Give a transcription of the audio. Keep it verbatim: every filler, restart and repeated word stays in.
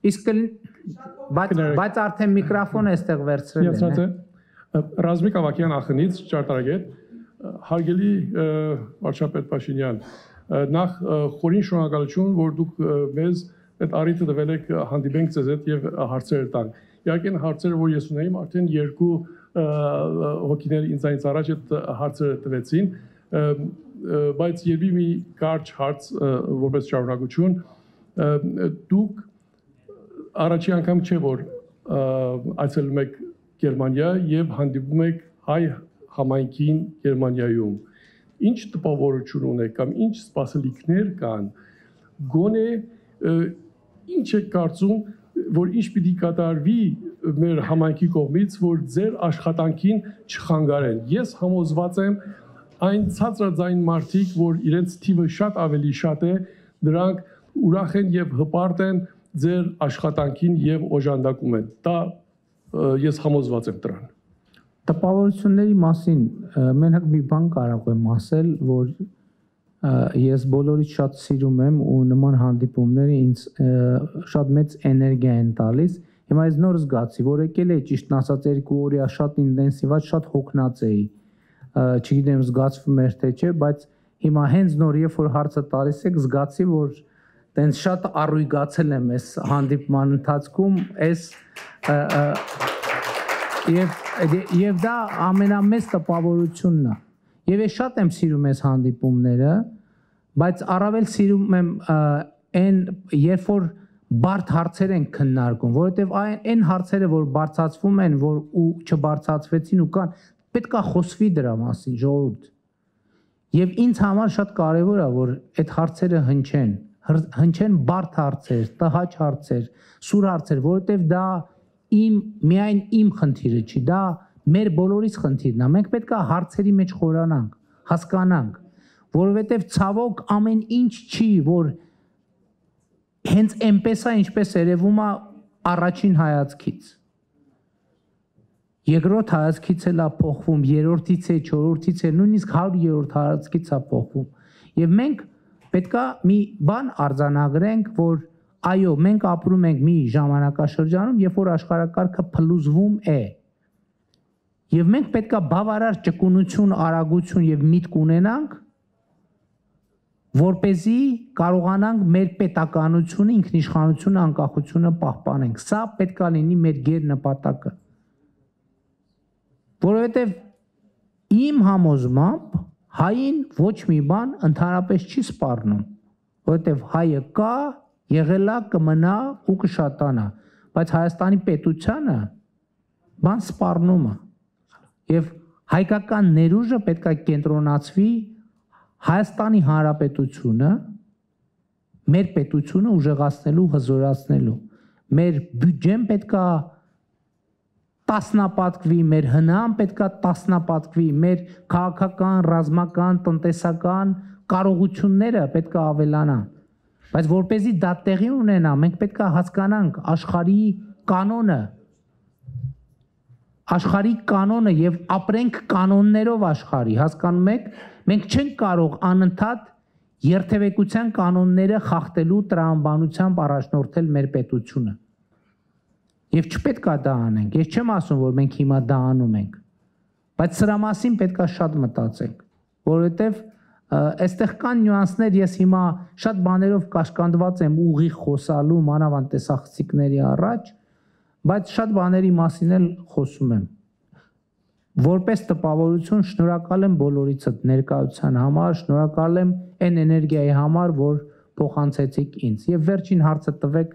Իսկ բայց արդեն միկրոֆոնը այստեղ վերցրել են։ Ռազմիկ Ավակյան ախնից ճարտարագետ, հարգելի վարչապետ Փաշինյան, նախ խորին շնորհակալություն, որ դուք մեզ այդ առիթը տվել եք հանդիպենք ձեզ հետ եւ հարցեր տանք։ Իհարկե հարցերը, որ ես ունեի, արդեն երկու հոգիներ ինձանից առաջ այդ հարցերը տվեցին, բայց երբի մի կարճ հարց որպես շարունակություն, դուք առաջի անգամ չէ որ այցելում եք Գերմանիա եւ հանդիպում եք հայ համայնքին Գերմանիայում։ Ինչ տպավորություն ունեք կամ ինչ սպասելիքներ կան, գոնե ինչ եք կարծում, որ ինչ պիտի կատարվի մեր համայնքի կողմից, որ ձեր աշխատանքին չխանգարեն։ Ես համոզված եմ այն ցածրաձայն մարդիկ, որ իրենց թիվը շատ ավելի շատ է, նրանք ուրախ են եւ հպարտ են ձեր աշխատանքին եւ օժանդակում են։ Դա ես համոզված եմ դրան։ Տպավորությունների մասին մենակ մի բան կարող եմ ասել, որ ես բոլորից շատ սիրում եմ ու նման հանդիպումները ինձ շատ մեծ էներգիա են տալիս։ Հիմա ես նոր զգացի, որ եկել էի ճիշտն ասած երկու օրյա շատ ինտենսիվ, շատ հոգնած էի։ Չգիտեմ զգացվում էր թե չէ, բայց հիմա հենց նոր երբ որ հարցը տալիս եք, զգացի, որ տենց շատ առույգացել եմ այս հանդիպման ընթացքում, այս եւ դա ամենամեծ տպավորությունն է։ Եվ ես շատ եմ սիրում այս հանդիպումները, բայց առավել սիրում եմ այն, երբ որ բարդ հարցեր են քննարկում, որովհետև այն հարցերը, որ բարձրացվում են, որ ու չբարձրացվեցին ու կան, պետք է խոսվի դրա մասին, ժողովուրդ։ Եվ ինձ համար շատ կարևոր է, որ այդ հարցերը հնչեն, հնչեն բարդ հարցեր, տհաճ հարցեր, սուր հարցեր, որովհետև դա իմ միայն իմ խնդիրը չի, դա մեր բոլորիս խնդիրն է։ Մենք պետք է հարցերի մեջ խորանանք, հասկանանք, որովհետև ցավոք ամեն ինչ չի, որ հենց այնպես է, ինչպես երևում է առաջին հայացքից։ Երկրորդ հայացքից էլ է փոխվում, երրորդից է, չորրորդից է, նույնիսկ հարյուրերորդ հայացքից է փոխվում։ Եվ մենք պետք է մի բան արձանագրենք, որ այո, մենք ապրում ենք մի ժամանակաշրջանում, երբ որ աշխարհակարգը փլուզվում է։ Եվ մենք պետք է բավարար ճկունություն, արագություն եւ միտք ունենանք, որպեսզի կարողանանք մեր պետականությունը, ինքնիշխանությունը, անկախությունը պահպանենք։ Սա պետք է լինի մեր գերնպատակը։ Որովհետև իմ համոզմամբ հային ոչ մի բան ընդհանրապես չի սպառնում, որովհետև հայը կա, եղել է, կմնա ու կշատանա, բայց Հայաստանի պետությանը բան սպառնում է։ Եվ հայկական ներուժը պետք է կենտրոնացվի Հայաստանի Հանրապետությունը, մեր պետությունը ուժեղացնելու, հզորացնելու։ Մեր բյուջեն պետք է տասնապատկվի, մեր հնան պետք է տասնապատկվի, մեր քաղաքական, ռազմական, տնտեսական կարողությունները պետք է ավելանան։ Բայց որպեսզի դա տեղի ունենա, մենք պետք է հասկանանք աշխարհի կանոնը, աշխարհի կանոնը եւ ապրենք կանոններով աշխարհի, հասկանում եք, մենք չենք կարող անընդհատ երթևեկության կանոնները խախտելու տրամաբանությամբ առաջնորդել մեր պետությունը։ Եվ չպետք է դա անենք, ես չեմ ասում, որ մենք հիմա դա անում ենք, բայց սրա մասին պետք է շատ մտածենք, որովհետև այստեղ կան նյուանսներ, ես հիմա շատ բաներով կաշկանդված եմ ուղիղ խոսալու մանավանդ տեսախցիկների առաջ, բայց շատ բաների մասին էլ խոսում եմ։ Որպես տպավորություն շնորհակալ եմ բոլորիցդ ներկայության համար, շնորհակալ եմ այն էներգիայի համար, որ փոխանցեցիք ինձ։ Եվ վերջին հարցը տվեք